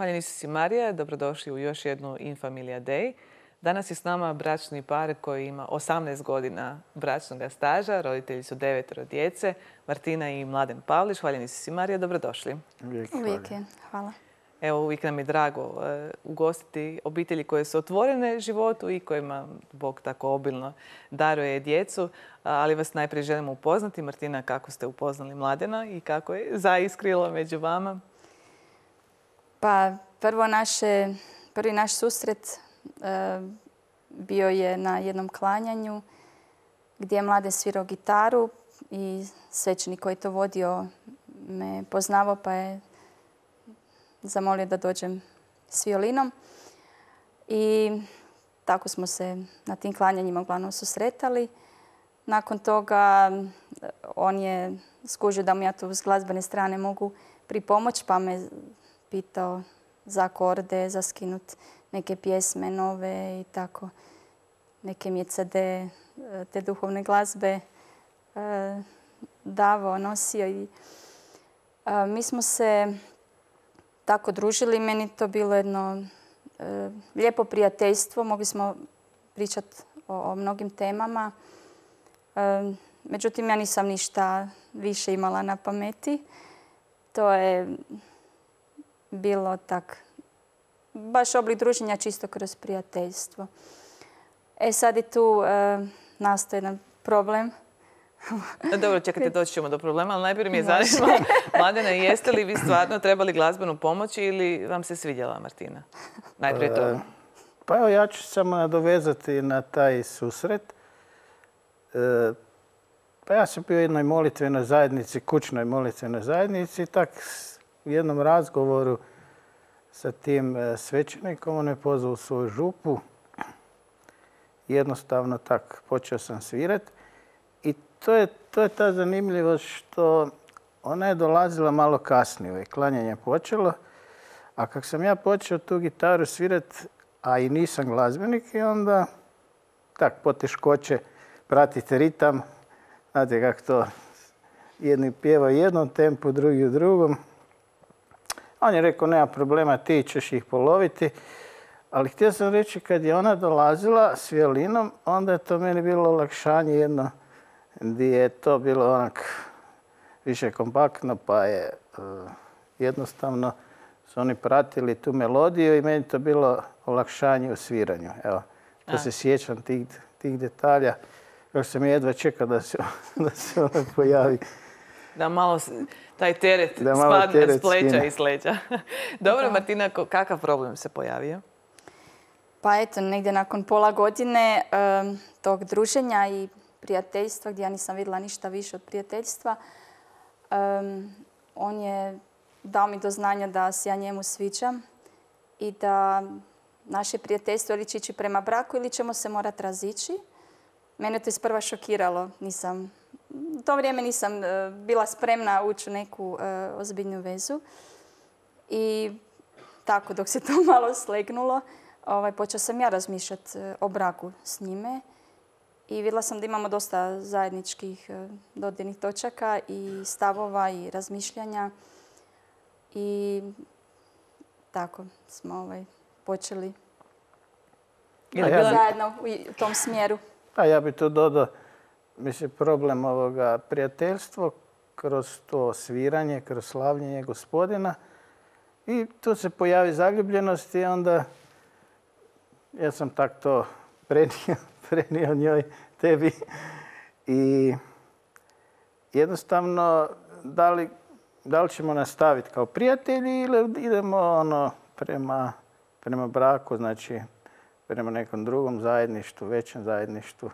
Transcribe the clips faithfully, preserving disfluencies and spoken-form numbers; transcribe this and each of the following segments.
Hvala Isusi Marija, dobrodošli u još jednu In Familia Day. Danas je s nama bračni par koji ima osamnaest godina bračnog staža, roditelji su devetero djece, Martina i Mladen Pavlić. Hvala Isusi Marija, dobrodošli. Uvijek je, hvala. Evo, uvijek nam je drago uh, ugostiti obitelji koje su otvorene životu i kojima Bog tako obilno daruje djecu. Uh, ali vas najprije želimo upoznati. Martina, kako ste upoznali Mladena i kako je zaiskrilo među vama? Pa prvo naše, prvi naš susret uh, bio je na jednom klanjanju gdje je Mladen svirao gitaru i svećenik koji je to vodio me poznavao pa je zamolio da dođem s violinom. I tako smo se na tim klanjanjima uglavnom susretali. Nakon toga on je skužio da mu ja tu s glazbene strane mogu pripomoći pa me pitao za akorde, za skinut neke pjesme nove i tako. Neke mi je ce de te duhovne glazbe davao, nosio. I mi smo se tako družili. Meni to bilo jedno e, lijepo prijateljstvo. Mogli smo pričati o, o mnogim temama. E, međutim, ja nisam ništa više imala na pameti. To je bilo tak, baš oblik druženja čisto kroz prijateljstvo. E sad je tu e, nastao jedan problem. Dobro, čekajte, doći ćemo do problema, ali najprije mi je zanima, Mladena, jeste li vi stvarno trebali glazbenu pomoć ili vam se svidjela Martina? Najprije to. Pa evo, ja ću samo nadovezati na taj susret. Pa ja sam bio u jednoj molitvenoj zajednici, kućnoj molitvenoj zajednici i tak u jednom razgovoru sa tim svećenikom on me pozvao u svoju župu. Jednostavno tak počeo sam svirati. I to je, to je ta zanimljivost što ona je dolazila malo kasnije. Klanjanje je počelo, a kako sam ja počeo tu gitaru svirati, a i nisam glazbenik, i onda tak poteškoće pratiti ritam. Znate kako to, jedni pjevaju u jednom tempu, drugi u drugom. On je rekao, nema problema, ti ćeš ih poloviti. Ali htio sam reći, kad je ona dolazila s violinom, onda je to meni bilo olakšanje jedno, gdje je to bilo onak više kompaktno, pa je uh, jednostavno su oni pratili tu melodiju i meni to bilo olakšanje u sviranju. Evo, to se sjećam tih, tih detalja, kako sam jedva čekao da se, da se ona pojavi. Da malo taj teret da spadne teret s pleća skine. i s leđa. Dobro, da. Martina, kakav problem se pojavio? Pa eto, negdje nakon pola godine um, tog druženja i prijateljstva, gdje ja nisam vidjela ništa više od prijateljstva, um, on je dao mi do znanja da se ja njemu sviđam i da naše prijateljstvo ili će ići prema braku ili ćemo se morati razići. Mene to isprva šokiralo. Nisam, u to vrijeme nisam uh, bila spremna ući u neku uh, ozbiljnu vezu. I tako, dok se to malo slegnulo, ovaj, počela sam ja razmišljati uh, o braku s njime. I vidjela sam da imamo dosta zajedničkih dodirnih točaka i stavova i razmišljanja. I tako smo ovaj, počeli ja zajedno u tom smjeru. A ja bih tu dodao, mislim, problem ovoga prijateljstvo kroz to sviranje, kroz slavljenje Gospodina. I tu se pojavi zaljubljenost i onda ja sam tak to prenio. prenio njoj, tebi. I jednostavno, da li, da li ćemo nastaviti kao prijatelji ili idemo ono prema, prema braku, znači prema nekom drugom zajedništvu, većem zajedništvu.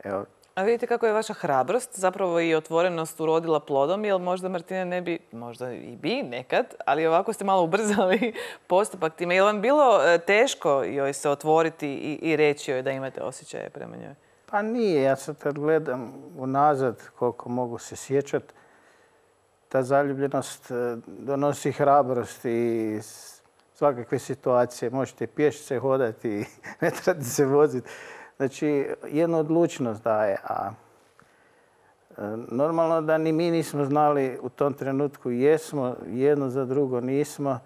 Evo. A vidite kako je vaša hrabrost, zapravo i otvorenost urodila plodom, jer možda Martina ne bi, možda i bi nekad, ali ovako ste malo ubrzali postupak time. Je li vam bilo teško joj se otvoriti i, i reći joj da imate osjećaje prema njoj? Pa nije, ja sad kad gledam unazad koliko mogu se sjećati, ta zaljubljenost donosi hrabrost i svakakve situacije. Možete pješice hodati i ne trebate se voziti. Znači, jednu odlučnost daje, a normalno da ni mi nismo znali u tom trenutku jesmo, jedno za drugo nismo,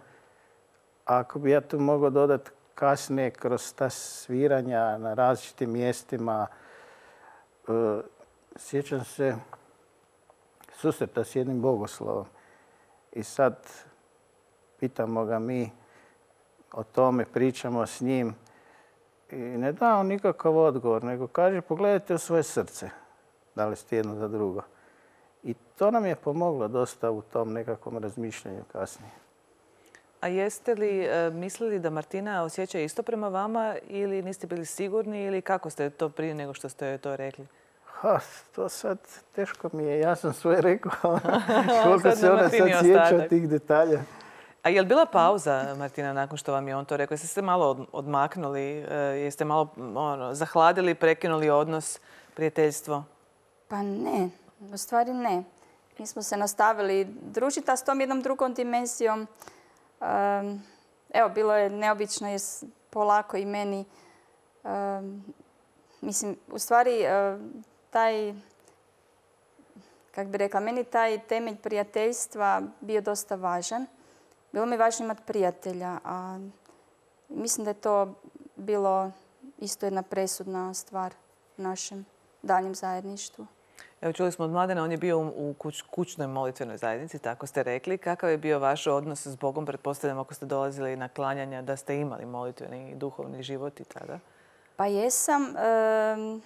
ako bi ja tu mogao dodati kasnije kroz ta sviranja na različitim mjestima, sjećam se susreta s jednim bogoslovom i sad pitamo ga mi o tome, pričamo s njim i ne da on nikakav odgovor, nego kaže pogledajte u svoje srce, da li ste jedno za drugo. I to nam je pomoglo dosta u tom nekakvom razmišljanju kasnije. A jeste li mislili da Martina osjeća isto prema vama ili niste bili sigurni ili kako ste to prije nego što ste joj to rekli? Ha, to sad teško mi je, ja sam sve rekao. Koliko se ona sad sjeća tih detalja. A je li bila pauza, Martina, nakon što vam je on to rekao? Jeste se malo odmaknuli? Jeste malo ono, zahladili, prekinuli odnos, prijateljstvo? Pa ne, u stvari ne. Mi smo se nastavili družiti, a s tom jednom drugom dimenzijom. Um, evo, bilo je neobično jer polako i meni, um, mislim, u stvari uh, taj, kako bi rekla, meni taj temelj prijateljstva bio dosta važan. Bilo mi je važno imati prijatelja, a mislim da je to bilo isto jedna presudna stvar u našem daljem zajedništvu. Evo, čuli smo od Mladena, on je bio u kuć, kućnoj molitvenoj zajednici, tako ste rekli. Kakav je bio vaš odnos s Bogom? Pretpostavljam ako ste dolazili na klanjanja da ste imali molitveni i duhovni život i tada. Pa jesam. E,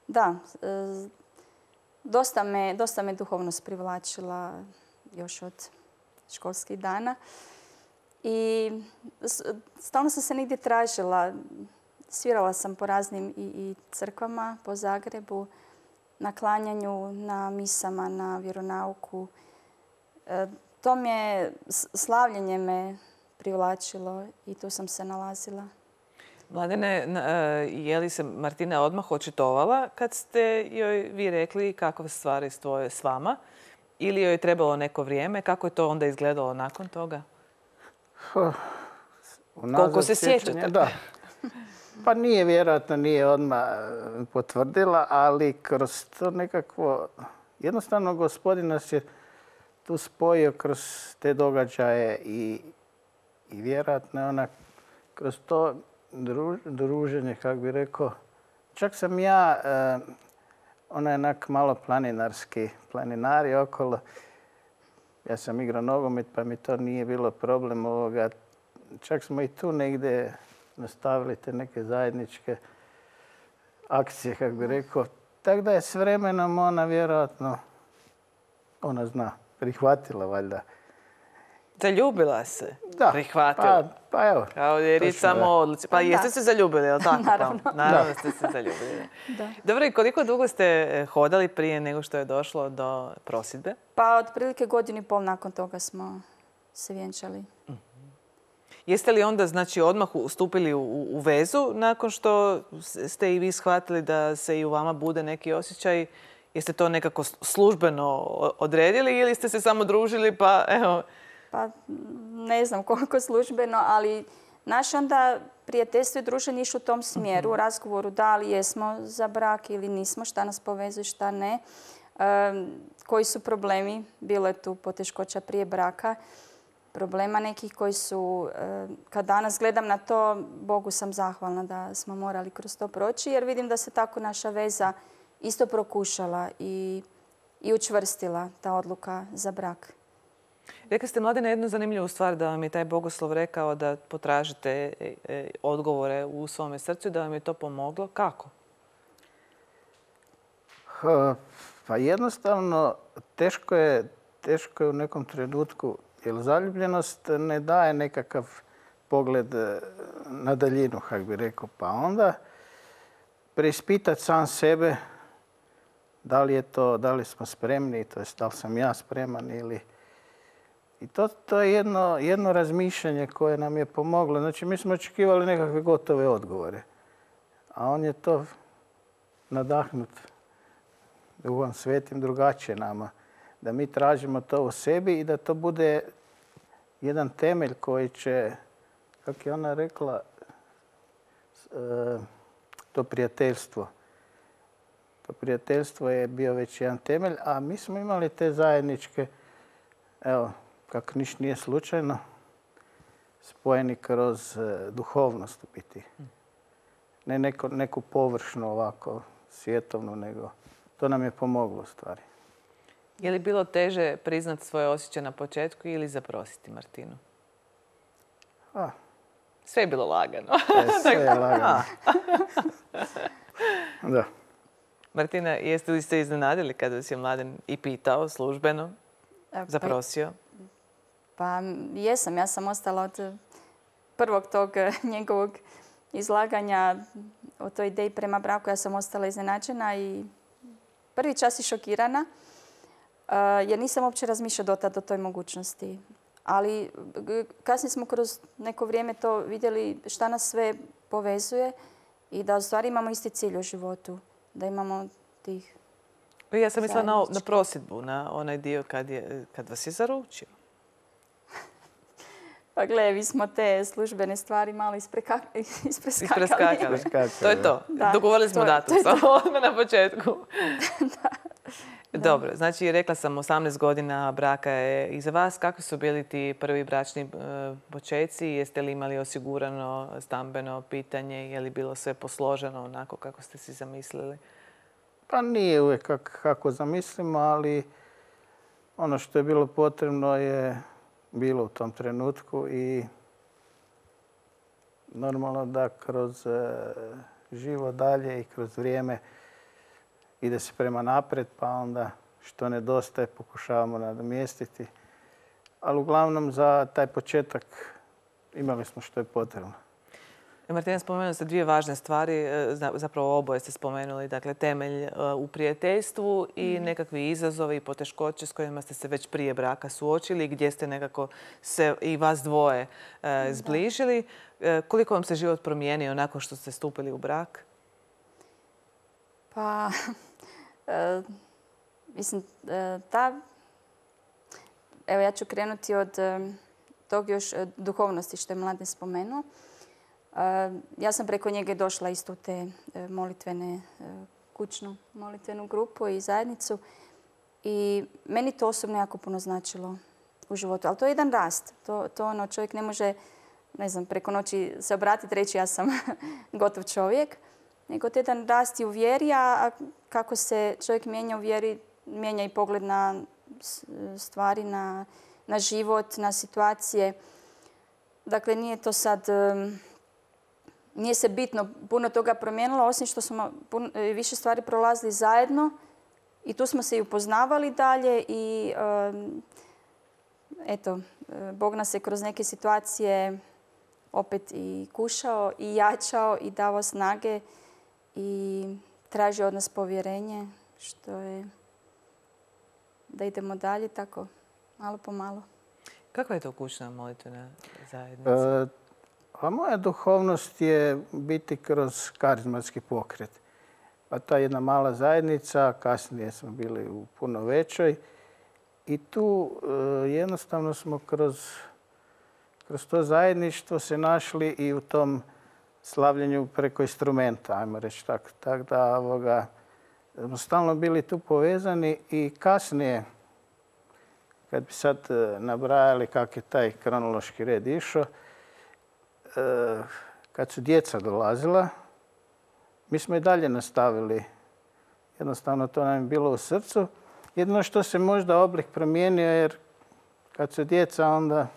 da, e, dosta, me, dosta me duhovnost privlačila još od školskih dana. I stalno sam se negdje tražila. Svirala sam po raznim i, i crkvama po Zagrebu, na klanjanju, na misama, na vjeronauku. E, to mi je, slavljenje me privlačilo i tu sam se nalazila. Mladene, je li se Martina odmah očitovala kad ste joj vi rekli kakve stvari stoje s vama? Ili joj je trebalo neko vrijeme? Kako je to onda izgledalo nakon toga? Koliko se sjećate? Da. Pa nije, vjerojatno nije odmah potvrdila, ali kroz to nekakvo... Jednostavno, Gospodin nas je tu spojio kroz te događaje i, i vjerojatno je ona kroz to druž, druženje, kako bi rekao, čak sam ja, eh, ona je onak malo planinarski, planinari okolo. Ja sam igrao nogomet pa mi to nije bilo problem ovoga. Čak smo i tu negdje nastavili te neke zajedničke akcije, kako bi rekao. Tako da je s vremenom ona vjerojatno, ona zna, prihvatila valjda. Zaljubila se? Da. Prihvatila? Pa, pa evo. Kao je riječ samo o odluci. Pa jeste se zaljubili, je li tako? Naravno. Pa, naravno ste se zaljubili. Da. Dobro, i koliko dugo ste hodali prije nego što je došlo do prosvjedbe? Pa otprilike godinu i pol nakon toga smo se vjenčali. Jeste li onda znači, odmah ustupili u, u vezu nakon što ste i vi shvatili da se i u vama bude neki osjećaj? Jeste to nekako službeno odredili ili ste se samo družili pa evo... Pa ne znam koliko službeno, ali naše onda prijateljstvo i druženje išlo u tom smjeru, u razgovoru da li jesmo za brak ili nismo, šta nas povezuje, šta ne. E, koji su problemi, bilo je tu poteškoća prije braka, problema nekih koji su, e, kad danas gledam na to, Bogu sam zahvalna da smo morali kroz to proći, jer vidim da se tako naša veza isto prokušala i, i učvrstila ta odluka za brak. Rekli ste, Mladene, jednu zanimljivu stvar da vam je taj bogoslov rekao da potražite odgovore u svome srcu i da vam je to pomoglo. Kako? Pa jednostavno, teško je, teško je u nekom trenutku, jer zaljubljenost ne daje nekakav pogled na daljinu, kako bi rekao. Pa onda preispitati sam sebe da li je to, da li smo spremni, to jest da li sam ja spreman ili... I to, to je jedno, jedno razmišljanje koje nam je pomoglo. Znači, mi smo očekivali nekakve gotove odgovore. A on je to nadahnut Duhom Svetim drugačije nama. Da mi tražimo to u sebi i da to bude jedan temelj koji će, kako je ona rekla, to prijateljstvo. To prijateljstvo je bio već jedan temelj, a mi smo imali te zajedničke, evo, kako ništa nije slučajno, spojeni kroz e, duhovnost u biti. Ne neko, neku površnu ovako svjetovnu, nego to nam je pomoglo u stvari. Je li bilo teže priznati svoje osjećaje na početku ili zaprositi Martinu? A, Sve je bilo lagano. e, sve je lagano. Da. Martina, jeste li se iznenadili kada vas je Mladen i pitao službeno, E, zaprosio? Pa jesam, ja sam ostala od prvog tog eh, njegovog izlaganja o toj ideji prema braku. Ja sam ostala iznenađena i prvi čas i šokirana eh, jer nisam uopće razmišljala do tada o toj mogućnosti. Ali g- kasnije smo kroz neko vrijeme to vidjeli šta nas sve povezuje i da u stvari imamo isti cilj u životu. Da imamo tih... Ja sam mislila na, na Zajednički. prosjedbu, na onaj dio kad, je, kad vas je zaručio. Pa gle, vi smo te službene stvari malo ispreka... ispreskakali. Ispreskakali. Iskakali, To je to. Da, Dogovorili smo to je- datum to je samo odmah na početku. Dobro, znači rekla sam osamnaest godina braka je iza vas. Kakvi su bili ti prvi bračni e, počeci? Jeste li imali osigurano stambeno pitanje? Je li bilo sve posloženo onako kako ste si zamislili? Pa nije uvijek kak, kako zamislimo, ali ono što je bilo potrebno je bilo u tom trenutku i normalno da kroz e, život dalje i kroz vrijeme ide se prema naprijed, pa onda što nedostaje pokušavamo nadomjestiti. Ali uglavnom za taj početak imali smo što je potrebno. Martina, spomenuli ste dvije važne stvari, e, za- zapravo oboje ste spomenuli, dakle temelj e, u prijateljstvu i nekakvi izazovi i poteškoće s kojima ste se već prije braka suočili, gdje ste nekako se i vas dvoje e, zbližili. E, Koliko vam se život promijenio nakon što ste stupili u brak? Pa, e, mislim, e, ta... Evo, ja ću krenuti od e, tog još e, duhovnosti što je Mladen spomenuo. E, ja sam preko njega došla isto u te e, molitvene, e, kućnu molitvenu grupu i zajednicu. I meni to osobno jako puno značilo u životu. Ali to je jedan rast. To, to ono, čovjek ne može, ne znam, preko noći se obratiti, reći ja sam gotov čovjek. Nego to je jedan rast i u vjeri, a kako se čovjek mijenja u vjeri, mijenja i pogled na stvari, na, na život, na situacije. Dakle, nije to sad, um, nije se bitno puno toga promijenilo, osim što smo puno, više stvari prolazili zajedno i tu smo se i upoznavali dalje i um, eto, Bog nas je kroz neke situacije opet i kušao i jačao i davao snage i traži od nas povjerenje, što je da idemo dalje tako, malo po malo. Kakva je to kućna molitvena zajednica? E, a moja duhovnost je biti kroz karizmatski pokret. Pa ta jedna mala zajednica, kasnije smo bili u puno većoj i tu e, jednostavno smo kroz, kroz to zajedništvo se našli i u tom slavljenju preko instrumenta, ajmo reći tako. Tako da ovoga, smo stalno bili tu povezani i kasnije, kad bi sad e, nabrajali kak je taj kronološki red išao, e, kad su djeca dolazila, mi smo i dalje nastavili. Jednostavno to nam je bilo u srcu. Jedino što se možda oblik promijenio jer kad su djeca onda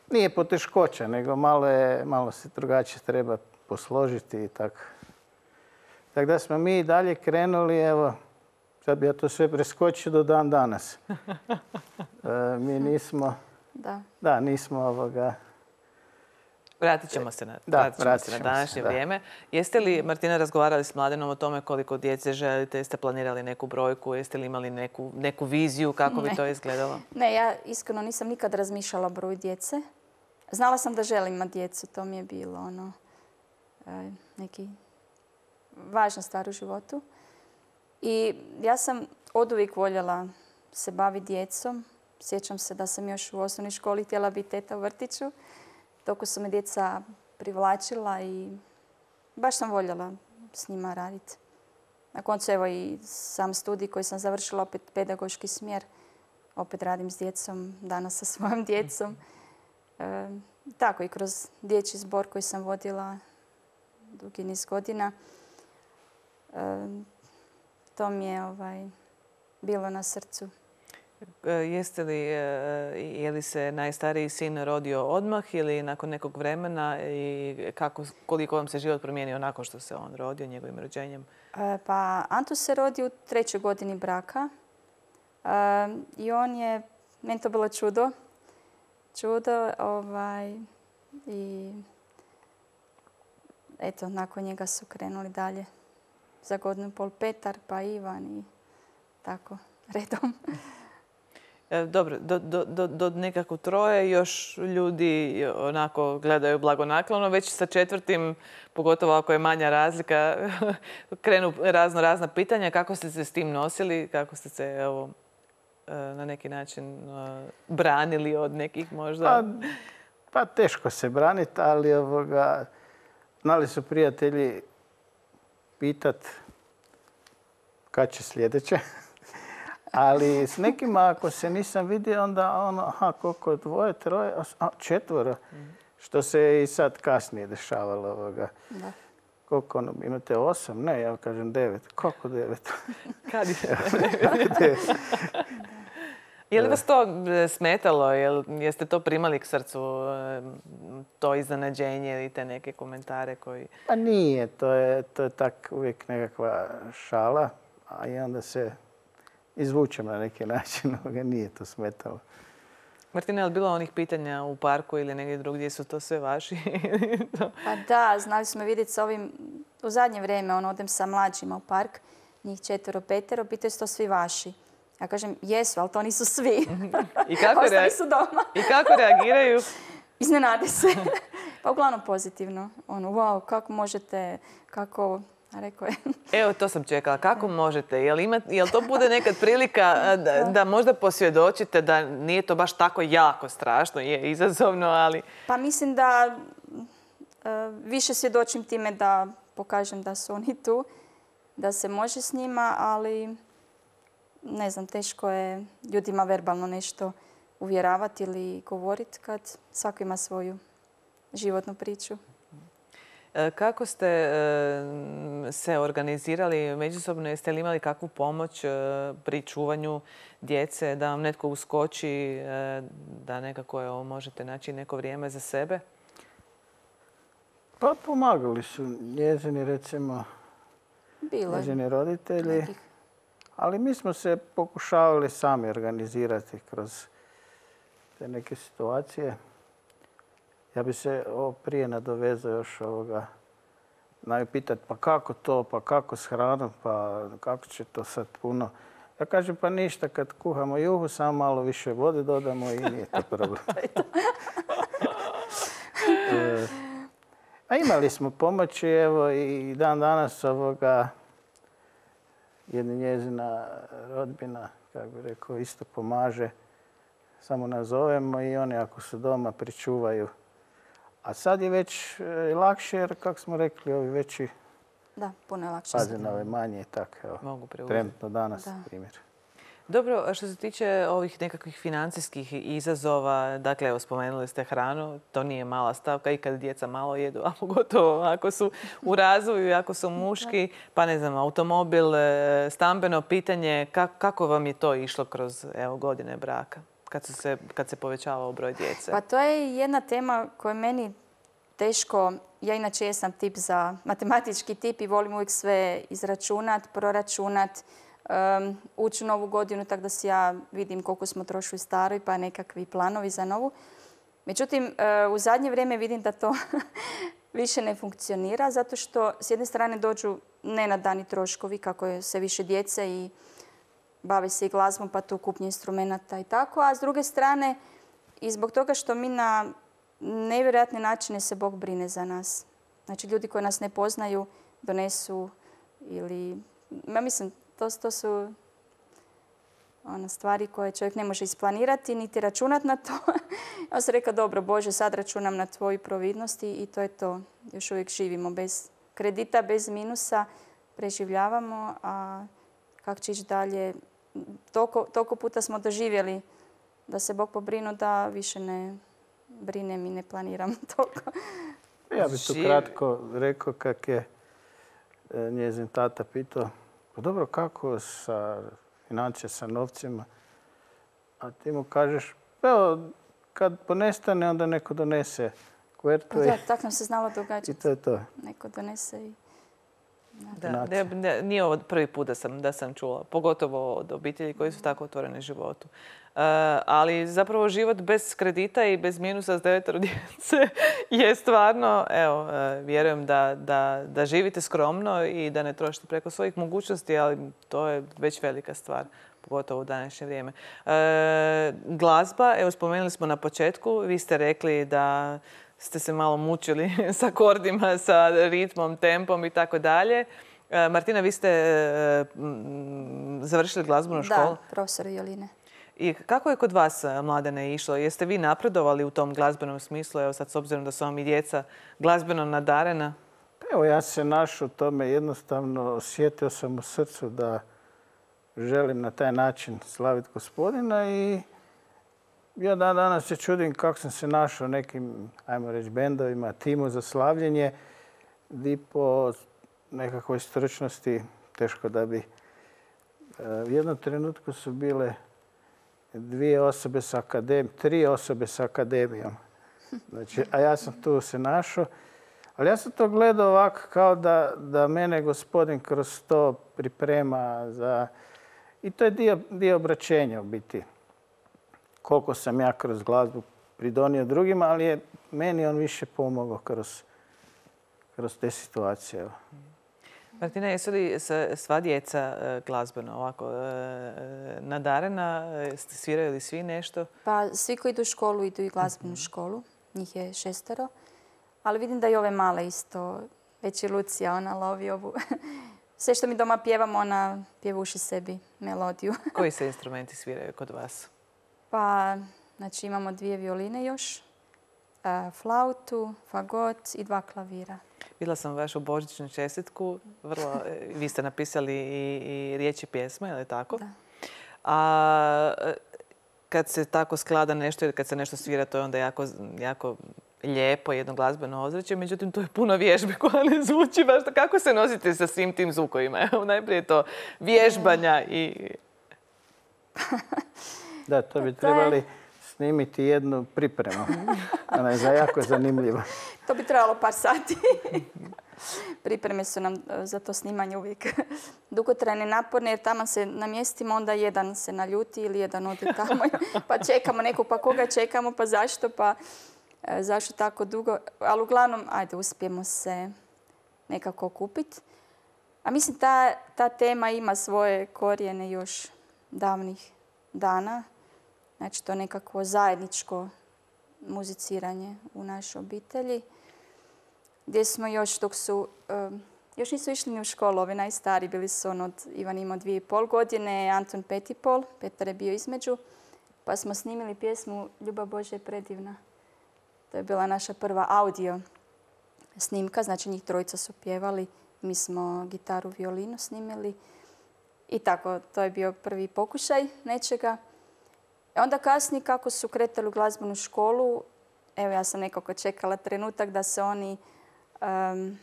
nije poteškoća, nego malo, je, malo se drugačije treba posložiti i tako. Tako da smo mi i dalje krenuli, evo, sad bi ja to sve preskočio do dan danas. E, mi nismo, Da. da, nismo ovoga, Vratit ćemo se na, Da, vratit ćemo vratit se na ćemo se, današnje da. vrijeme. Jeste li, Martina, razgovarali s Mladenom o tome koliko djece želite? Jeste planirali neku brojku? Jeste li imali neku, neku viziju kako bi Ne. to izgledalo? Ne, ja iskreno nisam nikad razmišljala o broju djece. Znala sam da želim imati djecu, to mi je bilo ono, e, neki važna stvar u životu. I ja sam oduvijek voljela se baviti djecom. Sjećam se da sam još u osnovnoj školi htjela biti teta u vrtiću. Toliko su me djeca privlačila i baš sam voljela s njima raditi. Na koncu evo i sam studij koji sam završila, opet pedagoški smjer. Opet radim s djecom, danas sa svojom djecom. E, tako i kroz dječji zbor koji sam vodila dugi niz godina. E, to mi je ovaj, bilo na srcu. Jeste li, je li se najstariji sin rodio odmah ili nakon nekog vremena i kako, koliko vam se život promijenio nakon što se on rodio, njegovim rođenjem? E, pa Anto se rodi u trećoj godini braka e, i on je, meni to bilo čudo, čudo ovaj, i eto, nakon njega su krenuli dalje. Za godinu i pol Petar, pa Ivan i tako redom. Dobro, do, do, do, do nekako troje još ljudi onako gledaju blagonaklono. Već sa četvrtim, pogotovo ako je manja razlika, krenu razno razna pitanja. Kako ste se s tim nosili? Kako ste se evo, na neki način branili od nekih možda? Pa, pa teško se braniti, ali ovoga, znali su prijatelji pitat kad će sljedeće. Ali s nekima ako se nisam vidio, onda ono, aha, koliko je dvoje, troje, a, četvoro. Mm. Što se i sad kasnije dešavalo. Ovoga. Da. Koliko ono, imate osam? Ne, ja kažem devet. Koliko devet? Kad je devet? Je li vas to smetalo? Jeste to primali k srcu, to iznenađenje ili te neke komentare koji... Pa nije, to je, to je tak uvijek nekakva šala, a i onda se izvučem na neki način, nije to smetalo. Martina, je li bilo onih pitanja u parku ili negdje drugdje, su to sve vaši? Pa da, znali smo vidjeti s ovim, u zadnje vrijeme, on odem sa mlađima u park, njih četvero, petero, pitaju su to svi vaši. Ja kažem, jesu, ali to nisu svi. I kako, Ostali su doma. I kako reagiraju? Iznenade se. Pa uglavnom pozitivno. Ono, wow, kako možete, kako... Rekao je. Evo, to sam čekala. Kako možete? Jel, ima, jel to bude nekad prilika da, da možda posvjedočite da nije to baš tako jako strašno, je izazovno, ali... Pa mislim da uh, više svjedočim time da pokažem da su oni tu, da se može s njima, ali ne znam, teško je ljudima verbalno nešto uvjeravati ili govoriti kad svako ima svoju životnu priču. Kako ste se organizirali međusobno? Jeste li imali kakvu pomoć pri čuvanju djece, da vam netko uskoči, da nekako evo, možete naći neko vrijeme za sebe? Pa pomagali su njezini, recimo, Bilo. njezini roditelji. Nekih. Ali mi smo se pokušavali sami organizirati kroz te neke situacije. Ja bi se ovo prije nadovezao još ovoga, znaju pitati pa kako to, pa kako s hranom, pa kako će to sad puno. Ja kažem pa ništa, kad kuhamo juhu, samo malo više vode dodamo i nije to problem. e, a imali smo pomoći, evo i dan danas ovoga, jedna njezina rodbina, kako bi rekao, isto pomaže. Samo nazovemo i oni ako su doma pričuvaju. A sad je već lakše jer, kako smo rekli, ovi veći da, puno je lakše. Paze na ove manje i tako. Evo, mogu preuzeti. Trenutno danas, da. primjer. Dobro, što se tiče ovih nekakvih financijskih izazova, dakle, evo, spomenuli ste hranu, to nije mala stavka i kad djeca malo jedu, a pogotovo ako su u razvoju, ako su muški, pa ne znam, automobil, stambeno pitanje, kako vam je to išlo kroz evo, godine braka? Kad, su se, kad se povećavao broj djece? Pa to je jedna tema koja je meni teško. Ja inače jesam tip za matematički tip i volim uvijek sve izračunat, proračunat, um, ući u novu godinu tako da si ja vidim koliko smo trošili staroj pa nekakvi planovi za novu. Međutim, uh, u zadnje vrijeme vidim da to više ne funkcionira zato što s jedne strane dođu nenadani troškovi kako je sve više djece i bave se i glazbom, pa tu kupnje instrumenata i tako. A s druge strane, i zbog toga što mi na nevjerojatne načine se Bog brine za nas. Znači, ljudi koji nas ne poznaju donesu ili... Ja mislim, to, to su ono, stvari koje čovjek ne može isplanirati, niti računati na to. Ja sam rekla, dobro, Bože, sad računam na tvoju providnost i to je to. Još uvijek živimo bez kredita, bez minusa, preživljavamo, a kako će ići dalje... Toliko, toliko puta smo doživjeli da se Bog pobrinu da više ne, brinem i ne planiram toliko. Ja bih tu kratko rekao kak je njezin tata pitao, pa dobro, kako sa financije, sa novcima? A ti mu kažeš, evo, kad ponestane, onda neko donese kuvertu. Pa da, tako nam se znalo događati. I to je to. Neko donese i... Da, ne, ne, nije ovo prvi put da sam, da sam čula, pogotovo od obitelji koji su tako otvoreni životu. Uh, ali zapravo život bez kredita i bez minusa s devetero djece je stvarno, evo, uh, vjerujem da, da, da živite skromno i da ne trošite preko svojih mogućnosti, ali to je već velika stvar, pogotovo u današnje vrijeme. Uh, glazba, evo spomenuli smo na početku, vi ste rekli da ste se malo mučili s akordima, sa ritmom, tempom i tako dalje. Martina, vi ste završili glazbenu školu? Da, profesor violine. I kako je kod vas, Mladene, išlo? Jeste vi napredovali u tom glazbenom smislu? Evo sad, s obzirom da su vam i djeca glazbeno nadarena. Evo, ja se našao u tome, jednostavno osjetio sam u srcu da želim na taj način slaviti Gospodina i ja dan danas se čudim kako sam se našao nekim, ajmo reći, bendovima, timu za slavljenje, gdje po nekakvoj stručnosti teško da bi... U jednom trenutku su bile dvije osobe s akademijom, tri osobe s akademijom. Znači, a ja sam tu se našao. Ali ja sam to gledao ovako kao da, da mene Gospodin kroz to priprema za... I to je dio, dio obraćenja u biti. Koliko sam ja kroz glazbu pridonio drugima, ali je meni on više pomogao kroz, kroz te situacije. Martina, jesu li sva djeca glazbeno ovako nadarena? Sviraju li svi nešto? Pa svi koji idu u školu idu i glazbenu školu. Njih je šestero. Ali vidim da i ove male isto, već i Lucija, ona lovi ovu. Sve što mi doma pjevamo, ona pjevuši sebi melodiju. Koji se instrumenti sviraju kod vas? Pa, znači imamo dvije violine još, flautu, fagot i dva klavira. Vidjela sam vašu božićnu čestitku. Vrlo, vi ste napisali i, i riječi pjesme, je li tako? Da. A kad se tako sklada nešto ili kad se nešto svira, to je onda jako, jako lijepo, jedno glazbeno ozračje. Međutim, to je puno vježbe koja ne zvuči baš. Kako se nosite sa svim tim zvukovima? Evo, najprije to vježbanja i... Da, to bi trebali snimiti jednu pripremu. Ona je za jako zanimljiva. To bi trebalo par sati. Pripreme su nam za to snimanje uvijek dugotrajne, naporne, jer tamo se namjestimo, onda jedan se naljuti ili jedan ode tamo. Pa čekamo nekog, pa koga čekamo, pa zašto, pa zašto tako dugo. Ali uglavnom, ajde, uspijemo se nekako kupiti. A mislim, ta, ta tema ima svoje korijene još davnih dana. Znači, to nekako zajedničko muziciranje u našoj obitelji. Gdje smo još dok su, um, još nisu išli ni u školu, ovi najstariji bili su on od, Ivan imao dvije i pol godine, Anton pet i pol, Petar je bio između. Pa smo snimili pjesmu Ljubav Božja je predivna. To je bila naša prva audio snimka, znači njih trojica su pjevali, mi smo gitaru, violinu snimili. I tako, to je bio prvi pokušaj nečega. Onda kasnije, kako su kretali u glazbenu školu, evo ja sam nekako čekala trenutak da se oni um,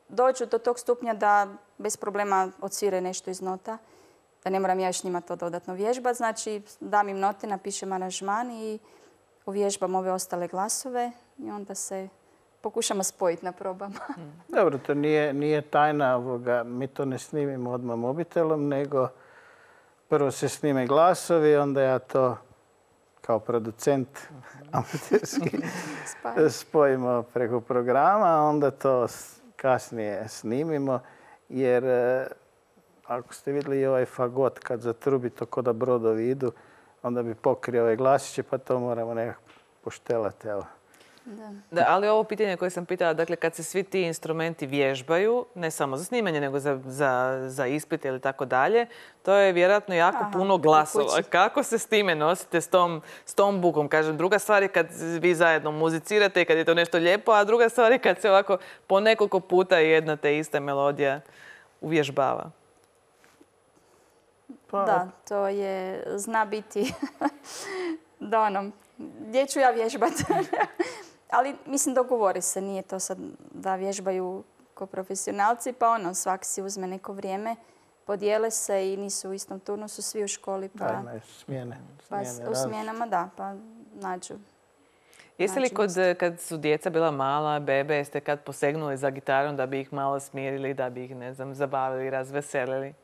dođu do tog stupnja da bez problema odsvire nešto iz nota. Da ne moram ja još njima to dodatno vježbati. Znači, dam im note, napišem aranžman i uvježbam ove ostale glasove i onda se pokušamo spojiti na probama. Dobro, to nije, nije tajna ovoga. Mi to ne snimimo odmah mobitelom, nego prvo se snime glasovi, onda ja to kao producent amaterski spojimo preko programa, onda to kasnije snimimo, jer ako ste vidjeli ovaj fagot kad zatrubi to ko da brodovi idu, onda bi pokrio ove glasiće, pa to moramo nekako poštelati. Evo. Da. Da, ali ovo pitanje koje sam pitala, dakle kad se svi ti instrumenti vježbaju, ne samo za snimanje, nego za, za, za ispit ili tako dalje, to je vjerojatno jako Aha, puno glasova. Kako se s time nosite, s tom, s tom bukom? Kažem, druga stvar je kad vi zajedno muzicirate i kad je to nešto lijepo, a druga stvar je kad se ovako po nekoliko puta jedna te ista melodija uvježbava. Pa. Da, to je, zna biti da ono, gdje ću ja vježbati? Ali mislim dogovore se, nije to sad da vježbaju ko profesionalci, pa ono, svak si uzme neko vrijeme, podijele se i nisu u istom turnusu svi u školi. Pa, Da, imaju smjene. pa smjene u smjenama, da, pa nađu. Jeste li Nađu kod, mjesto. kad su djeca bila mala, bebe, jeste kad posegnuli za gitarom da bi ih malo smirili, da bi ih, ne znam, zabavili, razveselili?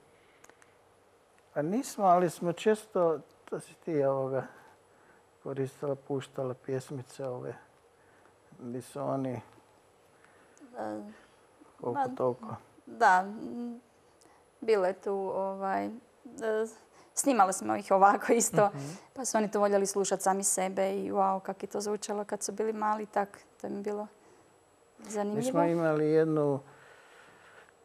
Pa nismo, ali smo često, to si ti ovoga, koristila, puštala pjesmice ove, gdje su oni koliko ma- toliko. Da, m, bilo je tu, ovaj, e, snimali smo ih ovako isto, pa su oni to voljeli slušati sami sebe i wow, kako je to zvučalo kad su bili mali, tak, to im je bilo Mi zanimljivo. smo imali jednu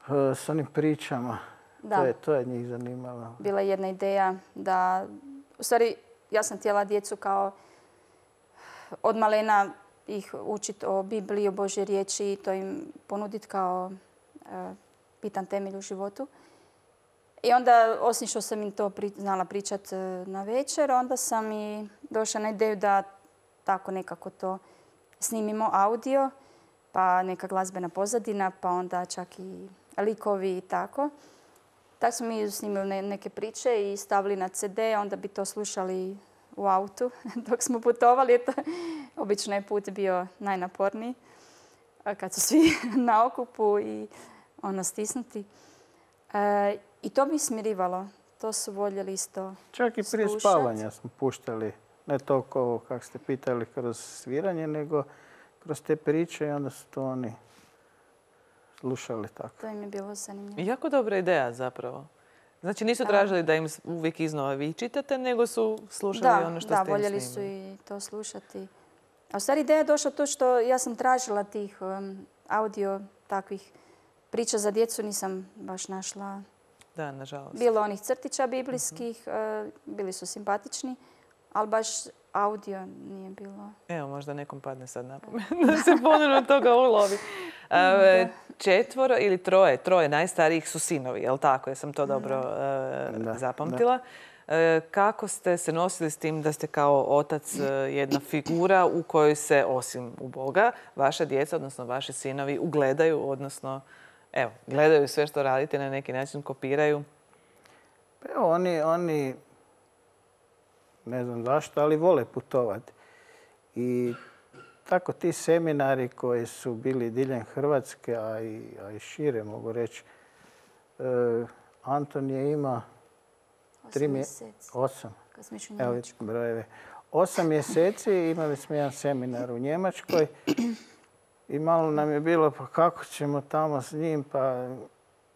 eh, s onim pričama. Da. To je, to je njih zanimalo. Bila je jedna ideja da, u stvari, ja sam htjela djecu kao od malena ih učiti o Bibliji, o Božje riječi i to im ponuditi kao e, bitan temelj u životu. I onda, osim što sam im to pri, znala pričati na večer, onda sam i došla na ideju da tako nekako to snimimo audio, pa neka glazbena pozadina, pa onda čak i likovi i tako. Tako smo mi snimili ne- neke priče i stavili na ce de, onda bi to slušali u autu dok smo putovali. Eto, obično je put bio najnaporniji a kad su svi na okupu i ono stisnuti. E, I to bi smirivalo. To su voljeli isto Čak i prije slušat. spavanja smo puštali, ne toliko ovo kako ste pitali kroz sviranje, nego kroz te priče i onda su to oni slušali tako. To im je bilo zanimljivo. Jako dobra ideja zapravo. Znači nisu tražili da im uvijek iznova vi čitate, nego su slušali Da, ono što da, ste im voljeli su snimili. i to slušati. A u stvari ideja je došla to što ja sam tražila tih um, audio takvih priča za djecu, nisam baš našla. Da, nažalost. Bilo onih crtića biblijskih, uh, bili su simpatični, ali baš audio nije bilo. Evo, možda nekom padne sad na pamet da se ponovno toga ulovi. E, četvoro ili troje, troje najstarijih su sinovi, jel tako? Jesam to dobro e, Da, zapamtila. E, kako ste se nosili s tim da ste kao otac e, jedna figura u kojoj se, osim u Boga, vaša djeca, odnosno vaši sinovi, ugledaju, odnosno, evo, gledaju sve što radite, na neki način kopiraju? Pa evo, oni, oni, ne znam zašto, ali vole putovati. I tako ti seminari koji su bili diljem Hrvatske, a i, a i šire mogu reći, e, Anton je ima tri Osam mje- mjeseci. osam. Kad smo išli u Evo Njemačku. brojeve. Osam mjeseci imali smo jedan seminar u Njemačkoj i malo nam je bilo pa kako ćemo tamo s njim, pa...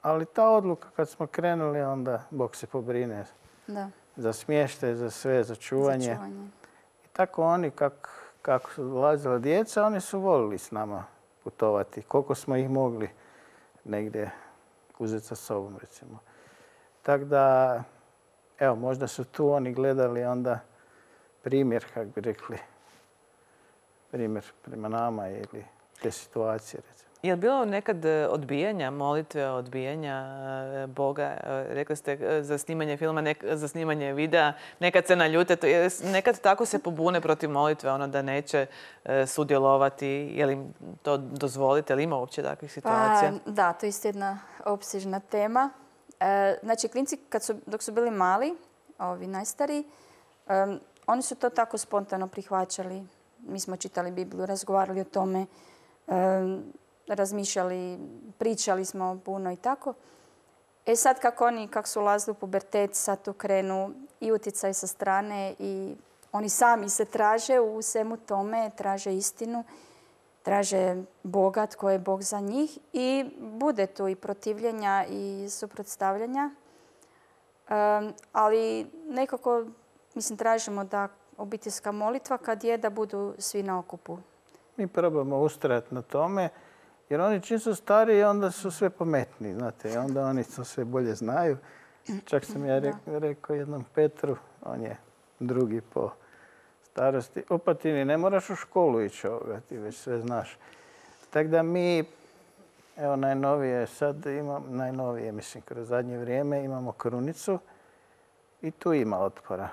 Ali ta odluka kad smo krenuli, onda Bog se pobrine Da, za smještaj, za sve, za čuvanje. za čuvanje. I tako oni, kak, kako su dolazila djeca, oni su volili s nama putovati. Koliko smo ih mogli negdje uzeti sa sobom, recimo. Tako da, evo, možda su tu oni gledali onda primjer, kako bi rekli, primjer prema nama ili te situacije, recimo. Je li bilo nekad e, odbijanja, molitve, odbijanja e, Boga? E, Rekli ste e, za snimanje filma, nek- za snimanje videa, nekad se naljute, to je- nekad tako se pobune protiv molitve, ono da neće e, sudjelovati. Je li im to dozvolite? Je li ima uopće takvih situacija? Pa, da, to je isto jedna opsežna tema. E, znači, klinci kad su, dok su bili mali, ovi najstariji, em, oni su to tako spontano prihvaćali. Mi smo čitali Bibliju, razgovarali o tome, em, razmišljali, pričali smo puno i tako. E sad kako oni, kako su ulazili u pubertet, sad tu krenu i utjecaj sa strane i oni sami se traže u svemu tome, traže istinu, traže Boga, tko je Bog za njih i bude tu i protivljenja i suprotstavljanja. Um, ali nekako, mislim, tražimo da obiteljska molitva kad je da budu svi na okupu. Mi probamo ustrajati na tome, jer oni čim su stariji, onda su sve pametniji, znate, i onda oni to sve bolje znaju. Čak sam ja rek- rekao jednom Petru, on je drugi po starosti, opa ti ni ne moraš u školu ići ovoga, ti već sve znaš. Tako da mi, evo najnovije sad imam, najnovije mislim kroz zadnje vrijeme imamo krunicu i tu ima otpora.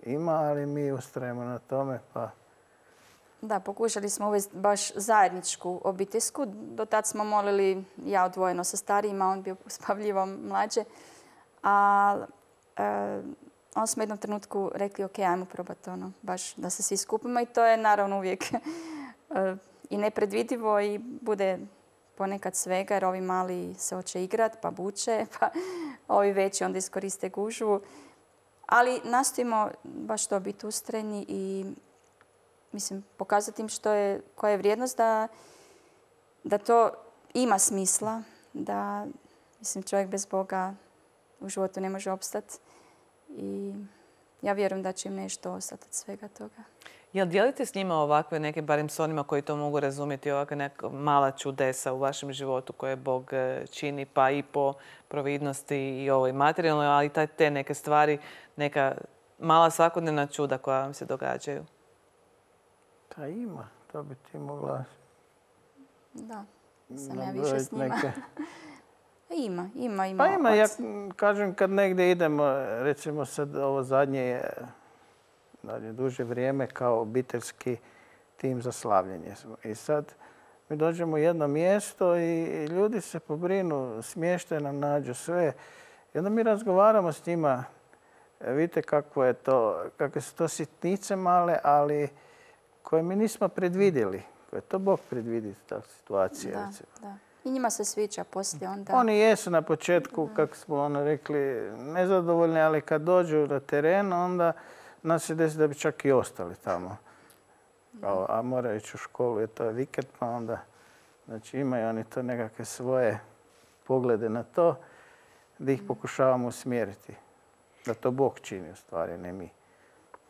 ima, ali mi ustrajemo na tome. Pa Da, pokušali smo uvesti baš zajedničku obiteljsku. Do tad smo molili ja odvojeno sa starijima, on bio uspavljivo mlađe. A e, on smo u jednom trenutku rekli ok, ajmo probati ono, baš da se svi skupimo i to je naravno uvijek e, i nepredvidivo i bude ponekad svega jer ovi mali se hoće igrat pa buče, pa ovi veći onda iskoriste gužvu. Ali nastojimo baš to biti ustrajni i mislim, pokazati im što je, koja je vrijednost da, da to ima smisla, da mislim, čovjek bez Boga u životu ne može opstati. I ja vjerujem da će im nešto ostati od svega toga. Jel dijelite s njima ovakve neke, barem s onima koji to mogu razumjeti, ovakve neka mala čudesa u vašem životu koje Bog čini, pa i po providnosti i ovoj materijalnoj, ali te neke stvari, neka mala svakodnevna čuda koja vam se događaju? Pa ima, to bi ti mogla... Da, sam ja više s njima. Neke... ima, ima, ima. Pa ima, ja kažem kad negdje idemo, recimo sad ovo zadnje je duže vrijeme kao obiteljski tim za slavljenje. I sad mi dođemo u jedno mjesto i ljudi se pobrinu, smještaj nam nađu sve. I onda mi razgovaramo s njima. Vidite kako je to, kakve su to sitnice male, ali koje mi nismo predvidjeli. Koje to Bog predvidi, ta situacija. Da, da. I njima se sviđa poslije onda. Oni jesu na početku, kako smo ono rekli, nezadovoljni, ali kad dođu na teren, onda nas se desi da bi čak i ostali tamo. A, a moraju ići u školu, jer to je vikend, pa onda znači, imaju oni to nekakve svoje poglede na to, da ih pokušavamo usmjeriti. Da to Bog čini u stvari, ne mi.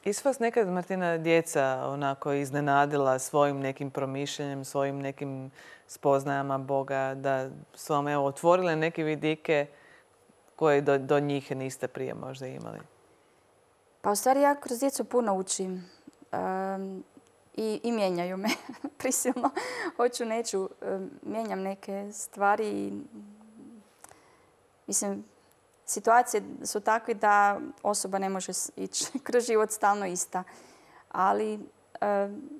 Jesu vas nekad, Martina, djeca onako iznenadila svojim nekim promišljanjem, svojim nekim spoznajama Boga, da su vam evo, otvorile neke vidike koje do, do njih niste prije možda imali? Pa u stvari ja kroz djecu puno učim um, i, i mijenjaju me prisilno. Hoću, neću, um, mijenjam neke stvari i mislim, situacije su takve da osoba ne može ići kroz život stalno ista. Ali e,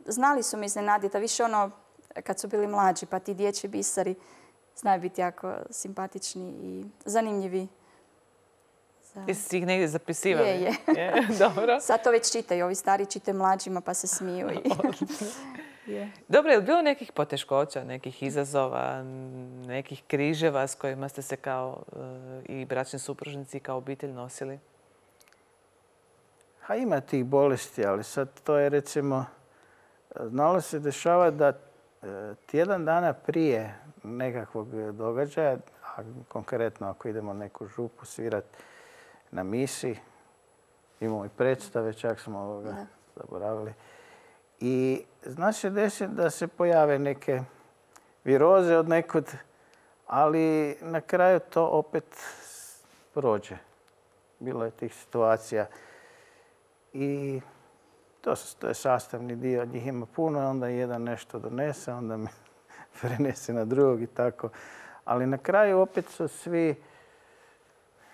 znali su me iznenaditi, a više ono kad su bili mlađi, pa ti dječji bisari znaju biti jako simpatični i zanimljivi. Za... Jesi ih negdje zapisivali? Je, je. je. Dobro. Sad to već čitaju, ovi stari čitaju mlađima pa se smiju. I... je. Dobro, je li bilo nekih poteškoća, nekih izazova, nekih križeva s kojima ste se kao i bračni supružnici i kao obitelj nosili? Ha, ima tih bolesti, ali sad to je recimo, znalo se dešava da tjedan dana prije nekakvog događaja, a konkretno ako idemo neku župu svirati na misi, imamo i predstave, čak smo ovoga da. zaboravili. I zna se desiti da se pojave neke viroze od nekud, ali na kraju to opet prođe. Bilo je tih situacija i to, to je sastavni dio. Njih ima puno, onda jedan nešto donese, onda me prenese na drugog i tako. Ali na kraju opet su svi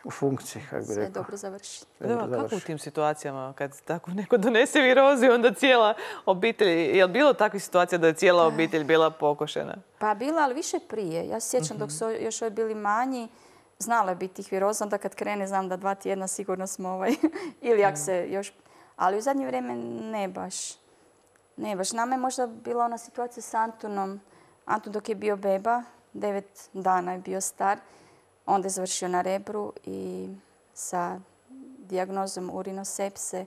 u funkciji, kako bi rekao. Sve dobro završi. Da, kako u tim situacijama kad tako neko donese virozu i onda cijela obitelj, je li bilo takvih situacija da je cijela obitelj bila pokošena? Pa bila, ali više prije. Ja se sjećam dok su još ovi bili manji, znala je biti tih viroza, onda kad krene znam da dva tjedna sigurno smo ovaj, ili ako se još... Ali u zadnje vrijeme ne baš. Ne baš. Nama je možda bila ona situacija s Antunom. Antun dok je bio beba, devet dana je bio star, onda je završio na Rebru i sa dijagnozom urinosepse.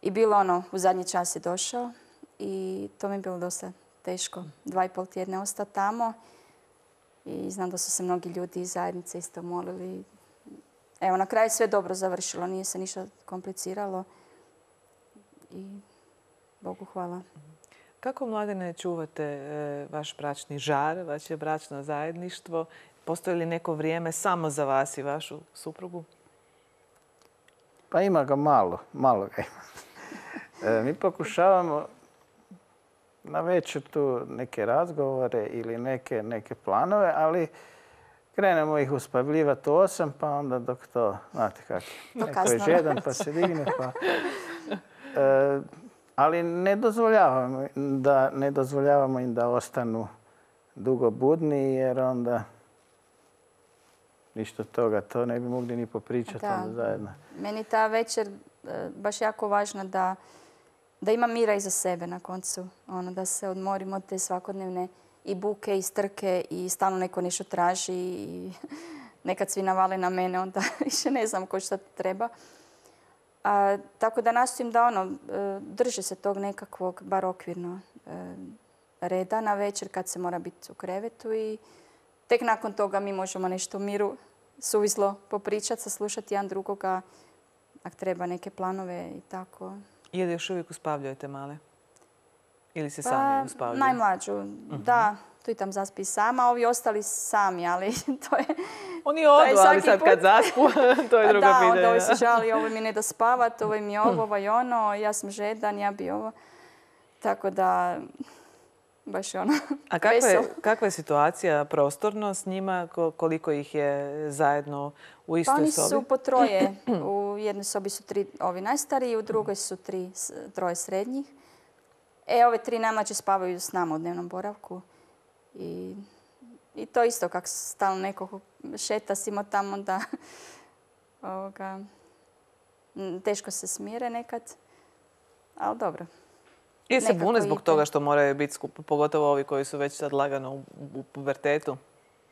I bilo ono, u zadnji čas je došao i to mi je bilo dosta teško. Dva i pol tjedna ostao tamo i znam da su se mnogi ljudi iz zajednice isto molili. Evo, na kraju sve dobro završilo, nije se ništa kompliciralo i Bogu hvala. Kako, Mladene, čuvate e, vaš bračni žar, vaše bračno zajedništvo? Postoji li neko vrijeme samo za vas i vašu suprugu? Pa ima ga malo, malo ga ima. E, mi pokušavamo na večer tu neke razgovore ili neke, neke planove, ali krenemo ih uspavljivati u osam, pa onda dok to, znate kako, neko je žedan pa se digne. Pa, e, ali ne dozvoljavamo, da, ne dozvoljavamo im da ostanu dugo budni, jer onda ništa toga, to ne bi mogli ni popričati onda zajedno. Meni ta večer e, baš jako važna da, da ima mira iza sebe na koncu. Ono, da se odmorimo od te svakodnevne i buke i strke i stalno neko nešto traži i nekad svi navale na mene, onda više ne znam ko šta treba. A, tako da nastojim da ono, e, drže se tog nekakvog, bar okvirno, e, reda na večer kad se mora biti u krevetu i tek nakon toga mi možemo nešto u miru suvislo popričati, saslušati jedan drugoga, ako treba neke planove i tako. Je li još uvijek uspavljujete male? Ili se Pa, sami uspavljaju? Najmlađu, uh-huh. da. Tu i tam zaspi sama, ovi ostali sami, ali to je... Oni odu, ali sad put. Kad zaspu, to je drugo da, pitanje. Da, onda ovi se žali, ovo mi ne da spavat, ovo mi je ovo, ovo i ono, ja sam žedan, ja bi ovo. Tako da, baš je ono... A kakva je, kakva je situacija prostorno s njima? Koliko ih je zajedno u istoj sobi? Pa oni su po troje. U jednoj sobi su tri ovi najstariji, u drugoj su tri, troje srednjih. E, ove tri najmlađe spavaju s nama u dnevnom boravku. I, i to isto, kako stalno neko šeta simo tamo, da ovoga, teško se smire nekad, ali dobro. I se bune zbog toga što moraju biti skupo, pogotovo ovi koji su već sad lagano u, u pubertetu?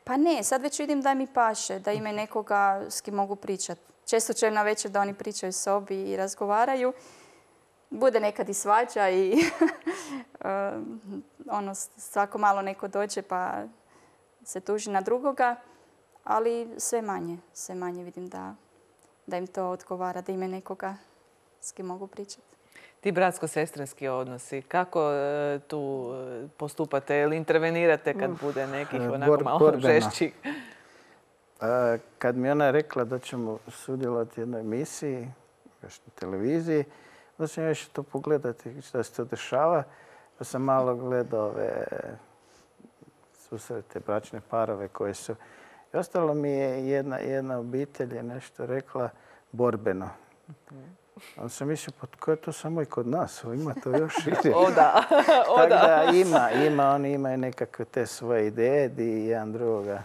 Pa ne, sad već vidim da mi paše, da imaju nekoga s kim mogu pričati. Često čujem na večer da oni pričaju sobi i razgovaraju. Bude nekad i svađa i ono, svako malo neko dođe pa se tuži na drugoga, ali sve manje, sve manje vidim da, da im to odgovara, da imaju nekoga s kim mogu pričati. Ti bratsko-sestrinski odnosi, kako e, tu postupate ili intervenirate kad bude nekih onako Bor, malo borbeno. žešćih? E, kad mi ona rekla da ćemo sudjelovati u jednoj emisiji, na televiziji, onda sam još to pogledati što se to dešava. Pa sam malo gledao ove susrete, bračne parove koje su... I ostalo mi je jedna, jedna obitelj je nešto rekla borbeno. Onda sam mislio, pa ko je to samo i kod nas? Ima to još šire. O da, o Tako da. da ima, ima, oni imaju nekakve te svoje ideje di jedan drugoga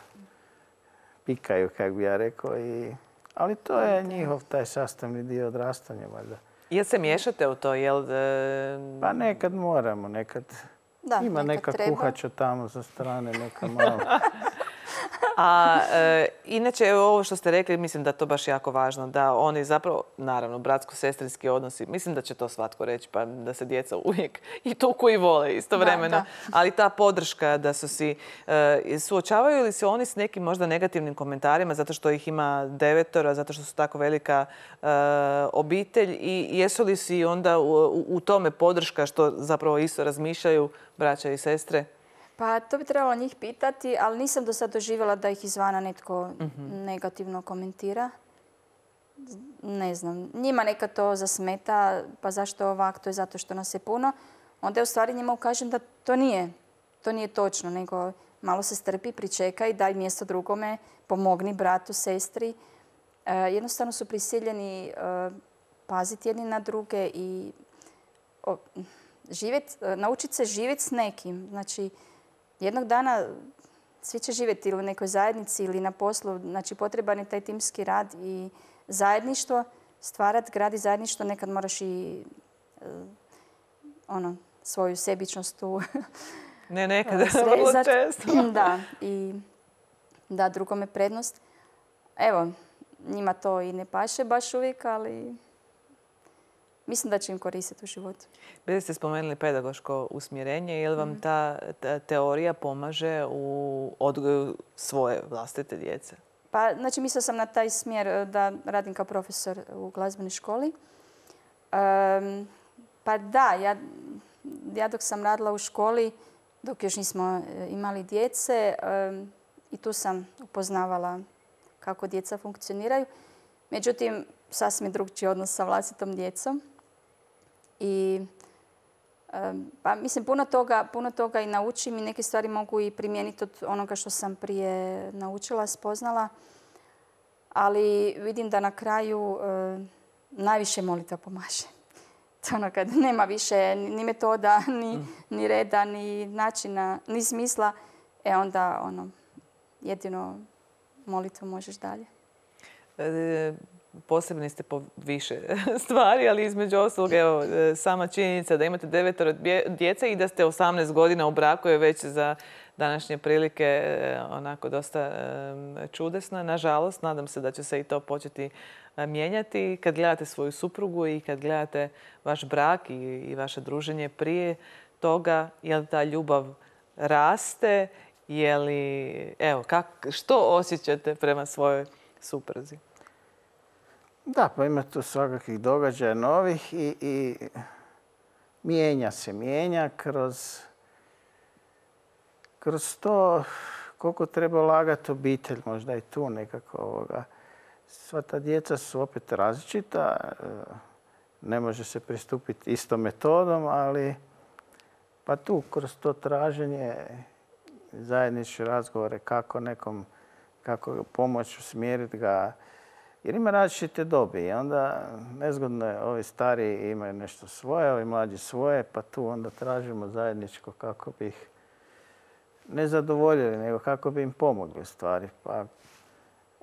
pikaju, kako bi ja rekao. I, ali to je njihov taj sastavni dio odrastanja, valjda. Jel se miješate u to? Jel, e... Pa nekad moramo, nekad da, ima nekad neka treba. kuhača tamo sa strane, neka malo. A e, inače, ovo što ste rekli, mislim da je to baš jako važno. Da oni zapravo, naravno, bratsko-sestrinski odnosi, mislim da će to svatko reći, pa da se djeca uvijek i tuku i vole istovremeno. Da, da. Ali ta podrška da su si... E, suočavaju li se oni s nekim možda negativnim komentarima zato što ih ima devetoro, zato što su tako velika e, obitelj i jesu li si onda u, u, u tome podrška što zapravo isto razmišljaju braća i sestre? Pa to bi trebalo njih pitati, ali nisam do sad doživjela da ih izvana netko Mm-hmm. negativno komentira. Ne znam, njima neka to zasmeta, pa zašto ovak, to je zato što nas je puno. Onda je u stvari njima ukažem da to nije, to nije točno, nego malo se strpi, pričekaj, daj mjesto drugome, pomogni bratu, sestri. E, jednostavno su prisiljeni e, paziti jedni na druge i o, živjet, naučiti se živjeti s nekim. Znači, jednog dana svi će živjeti ili u nekoj zajednici ili na poslu. Znači, potreban je taj timski rad i zajedništvo. Stvarati, gradi zajedništvo, nekad moraš i uh, ono, svoju sebičnost tu Ne, nekad, vrlo često. Da, i da drugome prednost. Evo, njima to i ne paše baš uvijek, ali mislim da će im koristiti u životu. Bili ste spomenuli pedagoško usmjerenje. Je li vam ta, ta teorija pomaže u odgoju svoje vlastite djece? Pa, znači, mislila sam na taj smjer da radim kao profesor u glazbenoj školi. Um, pa da, ja, ja dok sam radila u školi, dok još nismo imali djece, um, i tu sam upoznavala kako djeca funkcioniraju. Međutim, sasvim drugčiji odnos sa vlastitom djecom. I Pa mislim, puno toga, puno toga i naučim i neke stvari mogu i primijeniti od onoga što sam prije naučila, spoznala. Ali vidim da na kraju e, najviše molitva pomaže. To ono kad nema više ni metoda, ni, ni reda, ni načina, ni smisla, e onda ono, jedino molitvom možeš dalje. E, posebni ste po više stvari, ali između ostalog, evo, sama činjenica da imate devetoro djece i da ste osamnaest godina u braku je već za današnje prilike onako dosta čudesna. Nažalost, nadam se da će se i to početi mijenjati. Kad gledate svoju suprugu i kad gledate vaš brak i, i vaše druženje prije toga, je li ta ljubav raste? Je li, evo, kak, što osjećate prema svojoj supruzi? Da, pa ima tu svakakvih događaja novih i, i mijenja se, mijenja kroz, kroz to koliko treba ulagati obitelj, možda i tu nekako ovoga. Sva ta djeca su opet različita, ne može se pristupiti istom metodom, ali pa tu kroz to traženje zajedničke razgovore kako nekom, kako pomoći usmjeriti ga. Jer ima različite dobi i onda nezgodno je, ovi stariji imaju nešto svoje, ovi mlađi svoje, pa tu onda tražimo zajedničko kako bi ih ne zadovoljili, nego kako bi im pomogli u stvari. Pa,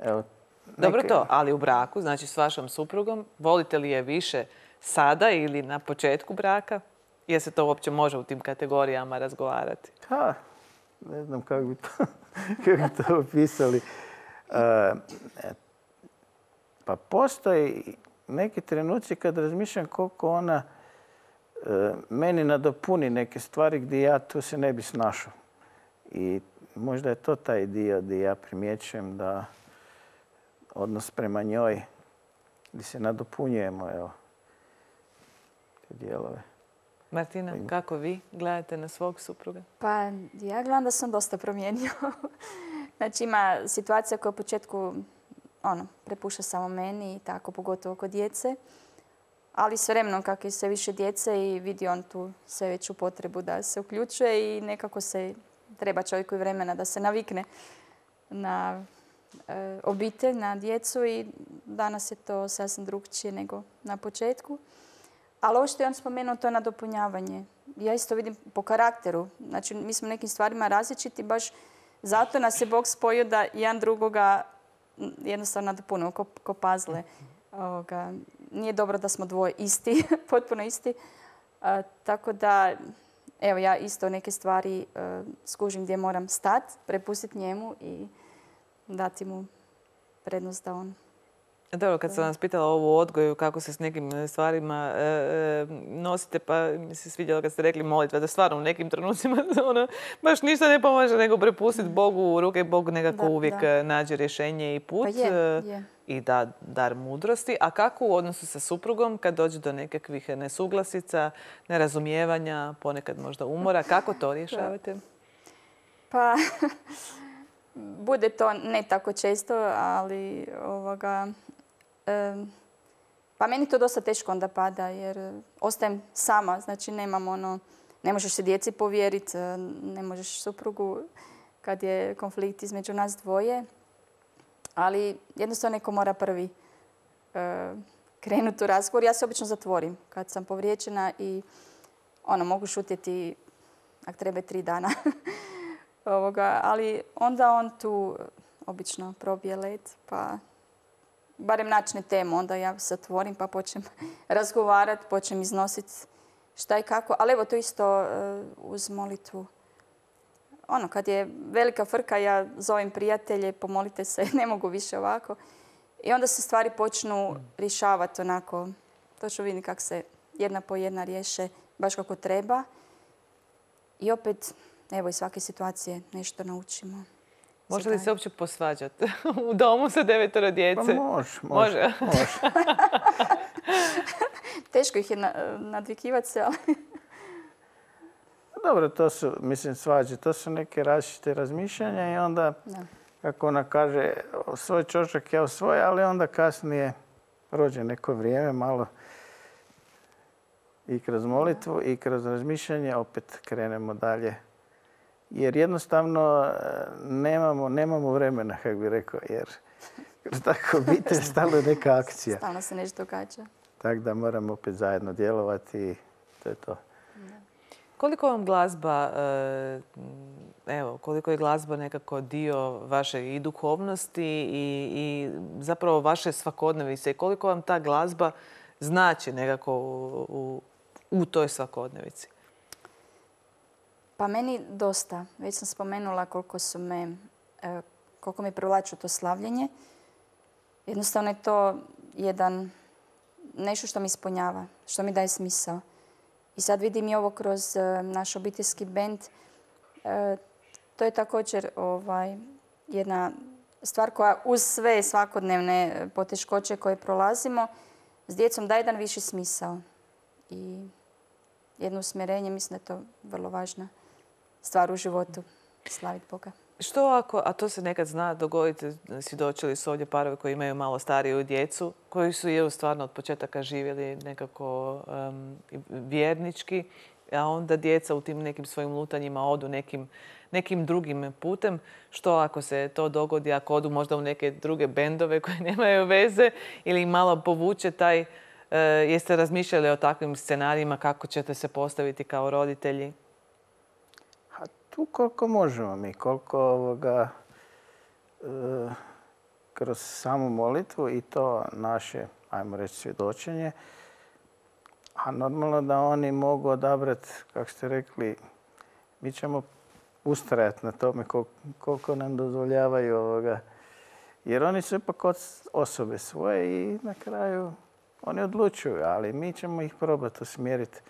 evo, neke... Dobro to, ali u braku, znači s vašom suprugom, volite li je više sada ili na početku braka? Jer se to uopće može u tim kategorijama razgovarati? Ha, ne znam kako bi to, kako bi to opisali. Uh, Pa postoji neki trenuci kad razmišljam koliko ona e, meni nadopuni neke stvari gdje ja tu se ne bi snašao. I možda je to taj dio gdje ja primjećujem da odnos prema njoj, gdje se nadopunjujemo, evo, te dijelove. Martina, kako vi gledate na svog supruga? Pa ja gledam da sam dosta promijenio. Znači ima situacija koja u početku ono, prepušta samo meni i tako, pogotovo kod djece. Ali s vremenom, kako je sve više djece i vidi on tu sve veću potrebu da se uključuje i nekako se treba čovjeku i vremena da se navikne na e, obitelj, na djecu i danas je to sasvim drukčije nego na početku. Ali ovo što je on spomenuo, to je nadopunjavanje. Ja isto vidim po karakteru. Znači, mi smo nekim stvarima različiti, baš zato nas je Bog spojio da jedan drugoga jednostavno nadopunimo ko, ko puzzle. Ovoga, nije dobro da smo dvoje isti, potpuno isti. A, tako da, evo, ja isto neke stvari a, skužim gdje moram stati, prepustiti njemu i dati mu prednost da on... Dobro, kad sam vas pitala ovu odgoju, kako se s nekim stvarima e, e, nosite, pa mi se svidjelo kad ste rekli molitva, da stvarno u nekim trenucima ono, baš ništa ne pomaže nego prepustiti Bogu u ruke. Bog nekako da, uvijek da. nađe rješenje i put pa je, je. i da dar mudrosti. A kako u odnosu sa suprugom kad dođe do nekakvih nesuglasica, nerazumijevanja, ponekad možda umora, kako to rješavate? Pa, bude to ne tako često, ali ovoga... Pa meni to dosta teško onda pada jer ostajem sama, znači nemam ono, ne možeš se djeci povjeriti, ne možeš suprugu kad je konflikt između nas dvoje, ali jednostavno neko mora prvi uh, krenuti u razgovor. Ja se obično zatvorim kad sam povrijeđena i ono, mogu šutjeti ako treba tri dana. Ovoga, ali onda on tu obično probije led, pa barem načne temu, onda ja se otvorim pa počnem razgovarati, počnem iznositi šta i kako. Ali evo to isto uh, uz molitvu. Ono, kad je velika frka, ja zovem prijatelje, pomolite se, ne mogu više ovako. I onda se stvari počnu rješavati onako. Točno vidim kako se jedna po jedna riješe, baš kako treba. I opet, evo, iz svake situacije nešto naučimo. Može li se uopće posvađati u domu sa devetoro djece? Pa može, može. može. Teško ih je nadvikivati se, ali... Dobro, to su, mislim, svađe. To su neke različite razmišljanja i onda, da. kako ona kaže, svoj čošak ja svoj, ali onda kasnije prođe neko vrijeme, malo I kroz molitvu i kroz razmišljanje opet krenemo dalje. Jer jednostavno nemamo, nemamo vremena, kako bi rekao, jer kroz tako obitelj stalno je neka akcija. Stalno se nešto događa. Tako da moramo opet zajedno djelovati i to je to. Koliko vam glazba, evo, koliko je glazba nekako dio vaše i duhovnosti i, i zapravo vaše svakodnevice i koliko vam ta glazba znači nekako u, u, u toj svakodnevici? Pa meni dosta. Već sam spomenula koliko su me, koliko me privlači to slavljenje. Jednostavno je to jedan, nešto što mi ispunjava, što mi daje smisao. I sad vidim i ovo kroz naš obiteljski bend. To je također ovaj, jedna stvar koja uz sve svakodnevne poteškoće koje prolazimo s djecom daje jedan viši smisao. I jedno usmjerenje, mislim da je to vrlo važna stvar u životu, slaviti Boga. Što ako, a to se nekad zna dogoditi, svjedočili su ovdje parovi koji imaju malo stariju djecu, koji su je stvarno od početaka živjeli nekako um, vjernički, a onda djeca u tim nekim svojim lutanjima odu nekim, nekim drugim putem. Što ako se to dogodi, ako odu možda u neke druge bendove koje nemaju veze ili malo povuče taj, uh, jeste razmišljali o takvim scenarijima kako ćete se postaviti kao roditelji? Tu koliko možemo mi, koliko ovoga, e, kroz samu molitvu i to naše, ajmo reći, svjedočenje, a normalno da oni mogu odabrati, kako ste rekli, mi ćemo ustrajati na tome koliko, koliko nam dozvoljavaju ovoga, jer oni su ipak osobe svoje i na kraju oni odlučuju, ali mi ćemo ih probati usmjeriti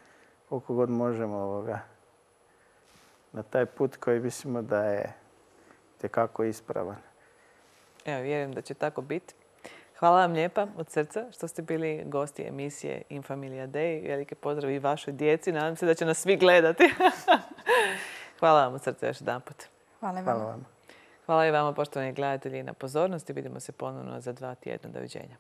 koliko god možemo ovoga. Na taj put koji mislimo da je tekako ispravan. Evo, vjerujem da će tako biti. Hvala vam lijepa od srca što ste bili gosti emisije In Familia Dei. Velike pozdrav i vašoj djeci. Nadam se da će nas svi gledati. Hvala vam od srca još jedan put. Hvala vam. Hvala vam. Hvala i vama, poštovani gledatelji, na pozornosti. Vidimo se ponovno za dva tjedna. Doviđenja.